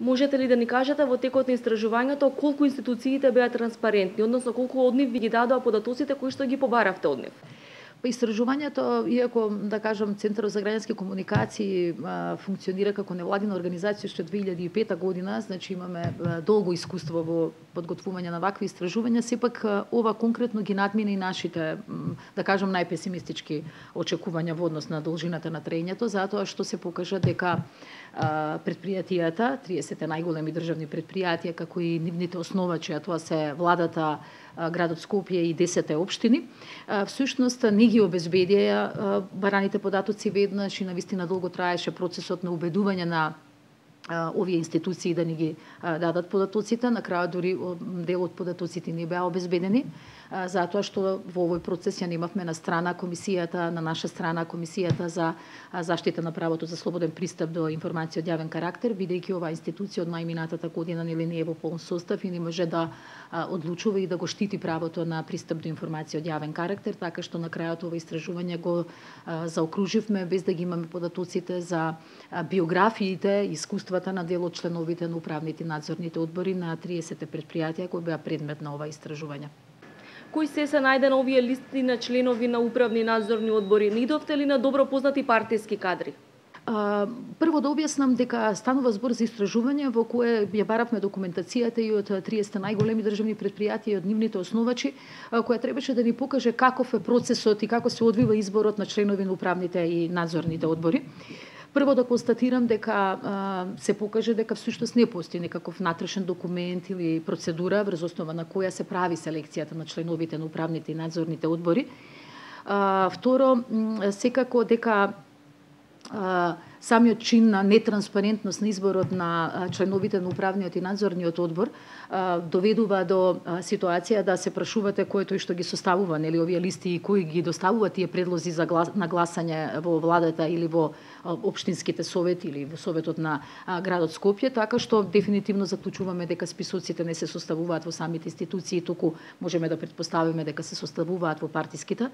Можете ли да ни кажете во текот на истражувањето колку институциите беа транспарентни, односно колку од нив ви ги дадоа податоците кои што ги побаравте од нив? Па истражувањето, иако да кажам Центарот за граѓански комуникации функционира како невладина организација уште 2005 година, значи имаме долго искуство во подготвување на вакви истражувања, сепак ова конкретно ги надмина и нашите, да кажам, најпесимистички очекувања во однос на должината на траењето, затоа што се покажа дека предпријатијата, 30 најголеми државни предпријатија, како и нивните основачи, а тоа се владата, градот Скопје и 10 општини, всушност не ги обезбедија бараните податоци веднаш и навистина долго траеше процесот на убедување на овие институции да ни ги дадат податоците. На крајот дури дел од податоците не беа обезбедени, затоа што во овој процес ја немавме на страна комисијата, на наша страна комисијата за заштита на правото за слободен пристап до информација од јавен карактер, бидејќи оваа институција од најминатата година не е во полн состав и не може да одлучува и да го штити правото на пристап до информација од јавен карактер, така што на крајот ова истражување го заокруживме без да ги имаме податоците за биографиите, искуствата на дел од членовите на управните надзорните одбори на 30 предпријатија кои беа предмет на ова истражување. Кои се најде на овие листи на членови на управни надзорни одбори? Не идовте ли на добро познати партиски кадри? Прво да објаснам дека станува збор за истражување во кое ја баравме документацијата и од 30 најголеми државни предпријатија и од нивните основачи, која требаше да ни покаже каков е процесот и како се одвива изборот на членови на управните и надзорните одбори. Прво да констатирам дека се покаже дека всушност не постои некаков натрешен документ или процедура врз основа на која се прави селекцијата на членовите на управните и надзорните одбори. Второ, секако дека самиот чин на нетранспарентност на изборот на членовите на управниот и надзорниот одбор доведува до ситуација да се прашувате кој тој што ги составува, нели, овие листи и кои ги доставува тие предлози за на гласање во владата или во општинските совети или во советот на градот Скопје, така што дефинитивно заклучуваме дека списоците не се составуваат во самите институции, туку можеме да претпоставиме дека се составуваат во партиските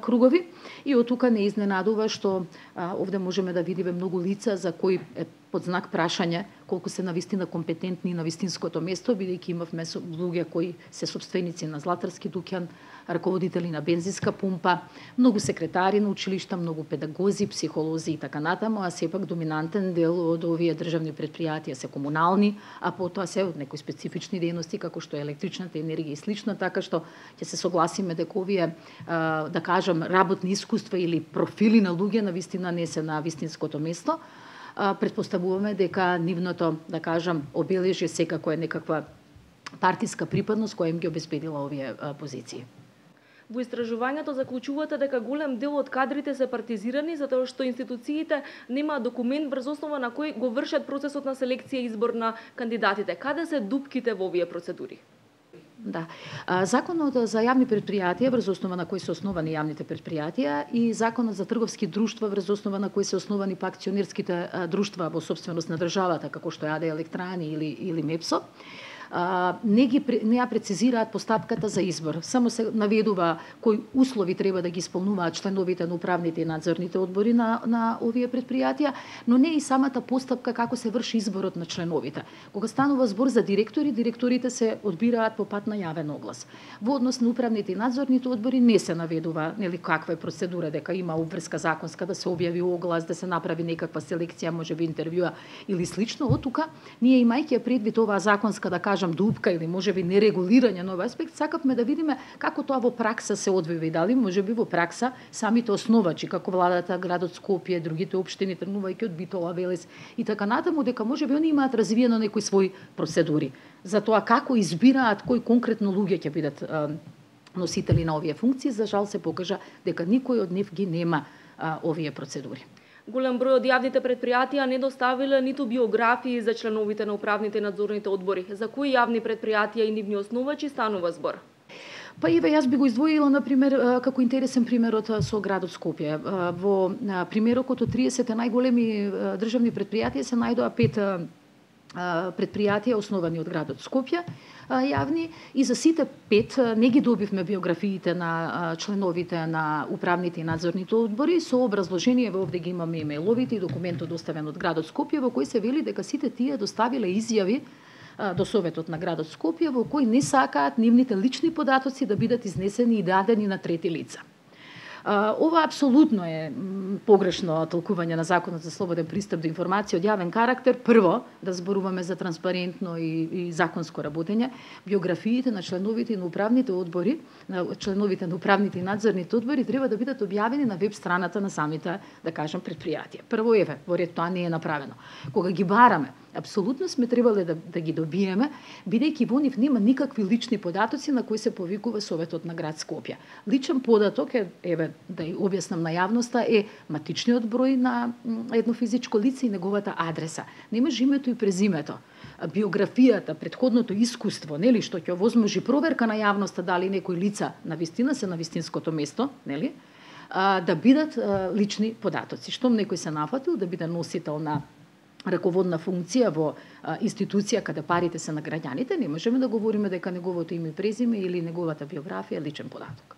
кругови. И од тука не изненадува што овде можеме да видиме многу лица за кои е под знак прашање колку се навистина компетентни на вистинското место, бидејќи имавме луѓе кои се сопственици на златарски дуќан, раководители на бензинска пумпа, многу секретари на училишта, многу педагози, психолози и така натаму, а сепак доминантен дел од овие државни предпријатија се комунални, а потоа се од некои специфични дејности како што е електричната енергија и слично, така што ќе се согласиме дека овие, да кажам, работни искуства или профили на луѓе навистина не се на вистинското место. Претпоставуваме дека нивното, да кажам, обележје секако е некаква партиска припадност која им ги обезбедила овие позиции. Во истражувањето заклучувате дека голем дел од кадрите се партизирани затоа што институциите немаат документ врз основа на кој го вршат процесот на селекција и избор на кандидатите. Каде се дупките во овие процедури? Да. Законот за јавни предпријатија врз основа на кој се основани јавните предпријатија и законот за трговски друштва врз основа на кој се основани па акционерските друштва во собственост на државата, како што е АД Електрани или МЕПСО, не ја прецизираат постапката за избор. Само се наведува кои услови треба да ги исполнуваат членовите на управните и надзорните одбори на овие предпријатија, но не и самата постапка како се врши изборот на членовите. Кога станува збор за директори, директорите се одбираат по пат на јавен оглас. Во однос на управните и надзорните одбори не се наведува, нели, каква е процедура, дека има обврска законска да се објави оглас, да се направи некаква селекција, можеби интервјуа или слично. Од тука ние, имајќи предвид оваа законска, да кажам, дупка или можеби нерегулирање на овој аспект, сакавме да видиме како тоа во пракса се одвива и дали можеби во пракса самите основачи, како владата, градот Скопје, другите општини, тргнувајќи од Битола, Велес и така натаму, дека можеби они имаат развиено некои своји процедури за тоа како избираат кои конкретно луѓе ќе бидат носители на овие функции. За жал се покажа дека никој од нив ги нема овие процедури. Голем број од јавните предпријатија не доставиле ниту биографии за членовите на управните и надзорните одбори. За кои јавни предпријатија и нивни основачи станува збор? Па еве, јас би го издвоила, например, како интересен примерот со градот Скопје. Во примерокот од 30 најголеми државни предпријатија се најдоа 5 предпријатија основани од градот Скопје, јавни, и за сите 5 не ги добивме биографиите на членовите на управните и надзорните одбори, со образложение, овде ги имаме имејловите и документот доставен од градот Скопје, во кој се вели дека сите тие доставиле изјави до Советот на градот Скопје, во кој не сакаат нивните лични податоци да бидат изнесени и дадени на трети лица. Ова апсолутно е погрешно толкување на Законот за слободен пристап до информација од јавен карактер. Прво, да зборуваме за транспарентно и законско работење. Биографиите на членовите на управните одбори, на членовите на управните и надзорните одбори треба да бидат објавени на веб страната на самите, да кажем, предпријатија. Прво, во ред тоа не е направено. Кога ги бараме, апсолутно сме требале да ги добиеме, бидејќи во нив нема никакви лични податоци на кои се повикува Советот на град Скопје. Личен податок е, да ја објаснам на јавноста, е матичниот број на едно физичко лице и неговата адреса. Немаш името и презимето. Биографијата, претходното искуство, нели, што ќе овозможи проверка на јавноста дали некои лица навистина се на вистинското место, нели, да бидат лични податоци. Штом некој се нафатил да биде носител на раководна функција во институција каде парите се на граѓаните, не можеме да говориме дека неговото име и презиме или неговата биографија е личен податок.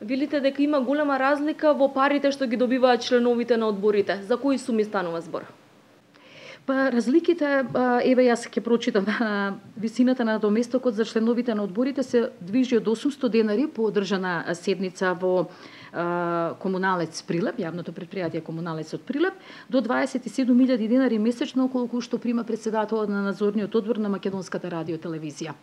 Велите дека има голема разлика во парите што ги добиваат членовите на одборите. За кои суми станува збор? Па разликите, еве јас ќе прочитам, висината на доместокот за членовите на одборите се движи од 800 денари по одржана седница во Комуналец Прилеп, јавното предпријатие Комуналец од Прилеп, до 27.000 денари месечно, колку што прима председателот на надзорниот одбор на Македонската радиотелевизија.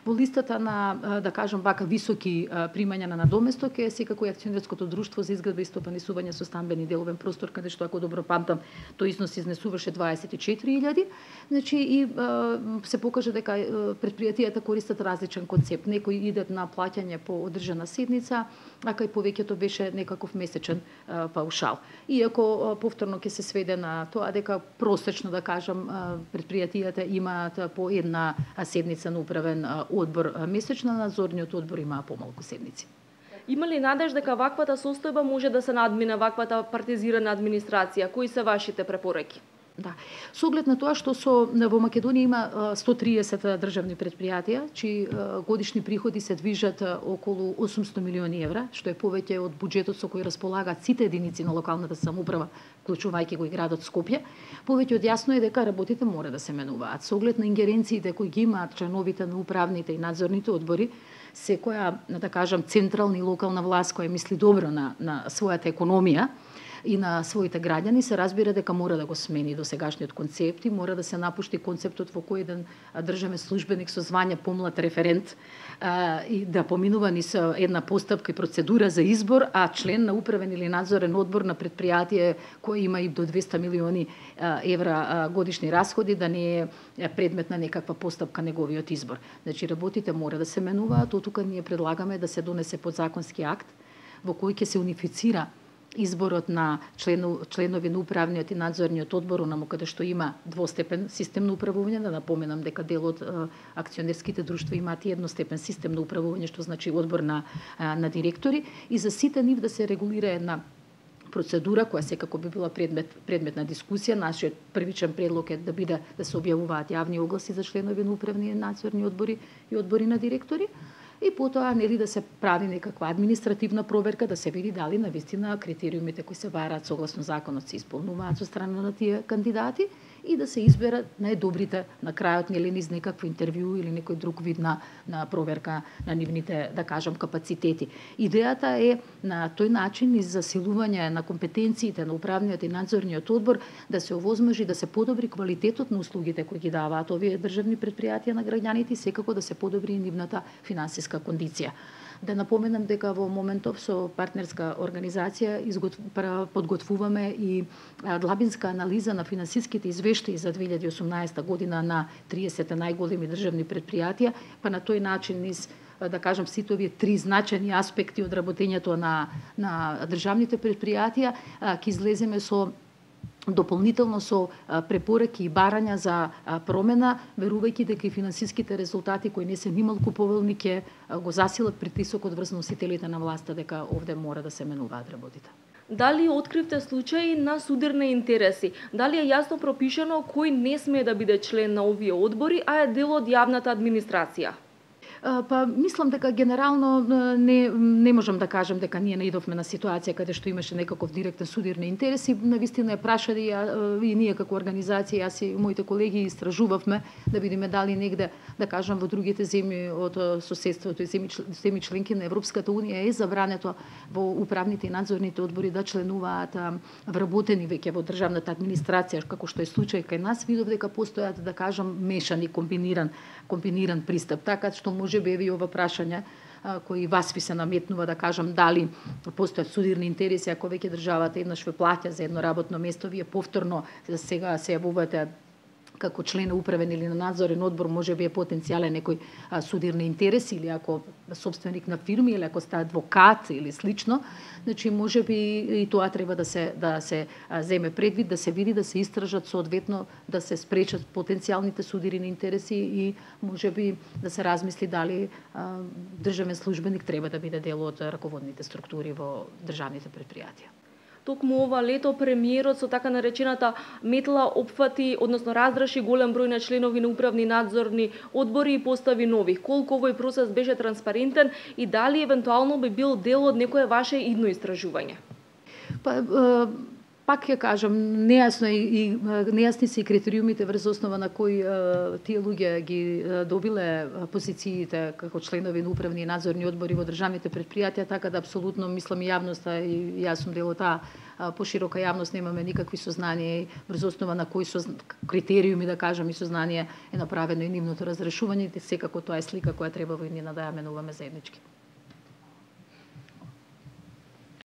Во листата на, да кажам вака, високи примања на надоместок е секако и акционерското друштво за изградба и стопанисување со стамбен и деловен простор, каде што, ако добро памтам, тој износ изнесуваше 24.000. Значи, и се покаже дека предпријатијата користат различен концепт. Некои идат на плаќање по одржана седница, а кај повеќето беше некаков месечен паушал. Иако повторно ќе се сведе на тоа дека просечно, да кажам, предпријатијата имаат по една седница на управен одбор месечно, надзорниот одбор имаа помалку седници. Има ли надеж дека ваквата состојба може да се надмине ваквата партизирана администрација? Кои се вашите препораки? Да. Со оглед на тоа што во Македонија има 130 државни предпријатија, чии годишни приходи се движат околу 800 милиони евра, што е повеќе од буџетот со кој располагаат сите единици на локалната самоуправа, вклучувајќи го и градот Скопје, повеќе од јасно е дека работите мора да се менуваат. Со оглед на ингеренциите кои ги имаат членовите на управните и надзорните одбори, секоја, да кажам, централна и локална власт која мисли добро на својата економија и на своите граѓани, се разбира дека мора да го смени досегашниот концепт и мора да се напушти концептот во кој еден државен службеник со звање помлад референт и да поминува низ една постапка и процедура за избор, а член на управен или надзорен одбор на предпријатие кој има и до 200 милиони евра годишни расходи, да не е предмет на некаква постапка неговиот избор. Значи, работите мора да се менуваат, оттука ние предлагаме да се донесе подзаконски акт во кој ќе се унифицира изборот на членови на управниот и надзорниот одбор, онаму каде што има двостепен систем на управување, да напоменам дека дел од акционерските друштва имаат и едностепен систем на управување, што значи одбор на директори, и за сите нив да се регулира една процедура која секако би била предмет на дискусија. Нашиот првичен предлог е да се објавуваат јавни огласи за членови на управни и надзорни одбори и одбори на директори. И потоа, нели, да се прави некаква административна проверка, да се види дали навистина критериумите кои се бараат согласно законот се исполнуваат со страна на тие кандидати и да се изберат најдобрите на крајот, нели, низ некакво интервју или некој друг вид на проверка на нивните, да кажам, капацитети. Идејата е на тој начин и засилување на компетенциите на управниот и надзорниот одбор да се овозможи да се подобри квалитетот на услугите кои ги даваат овие државни предпријатија на граѓаните и секако да се подобри нивната финансиска кондиција. Да напоменам дека во моментов со партнерска организација подготвуваме и длабинска анализа на финансиските извештаи за 2018 година на 30 најголеми државни предпријатија, па на тој начин низ, да кажам, сите овие три значајни аспекти од работењето на државните предпријатија ќе излеземе со дополнително со препораки и барања за промена, верувајќи дека и финансиските резултати кои не се нималку поволни ќе го засилат притисокот врз носителите на власта дека овде мора да се менуваат работите. Дали откривте случаи на судирни интереси? Дали е јасно пропишано кој не смее да биде член на овие одбори, а е дел од јавната администрација? Па мислам дека генерално не можам да кажам дека ние наидовме на ситуација каде што имаше некаков директен судирни интереси. Навистина е прашали и ние како организација, јас и моите колеги истражувавме да видиме дали негде, да кажам, во другите земји од соседството и земји членки на Европската унија е забрането во управните и надзорните одбори да членуваат вработени веќе во државната администрација, како што е случај кај нас. Видов дека постојат, да кажам, мешани, комбиниран пристап, така што може би и ова прашање кои вас ви се наметнува, да кажам, дали постојат судирни интереси ако веќе државата еднаш ве плаќа за едно работно место, вие повторно сега се јавувате како член на управен или на надзорен одбор, може би е потенцијален некој судирни интереси, или ако собственик на фирми, или ако сте адвокат или слично, значи може би и тоа треба да се земе предвид, да се види, да се истражат соодветно, да се спречат потенцијалните судирни интереси и може би да се размисли дали државен службеник треба да биде дел од раководните структури во државните предпријатија. Токму ова лето премиерот со така наречената метла опфати, односно раздраши голем број на членови на управни надзорни одбори и постави нови. Колку овој процес беше транспарентен и дали евентуално би бил дел од некое ваше идно истражување? Пак ќе кажам, нејасни се и критериумите врз основа на кои тие луѓе ги добиле позициите како членови на управни и надзорни одбори во државните предпријатија, така да апсолутно мислам и јавноста и јас сум дел од таа поширока јавност немаме никакви сознанија врз основа на кои критериуми, да кажам, и сознание е направено и нивното разрешување, секако тоа е слика која треба во иднина да ја менуваме заеднички.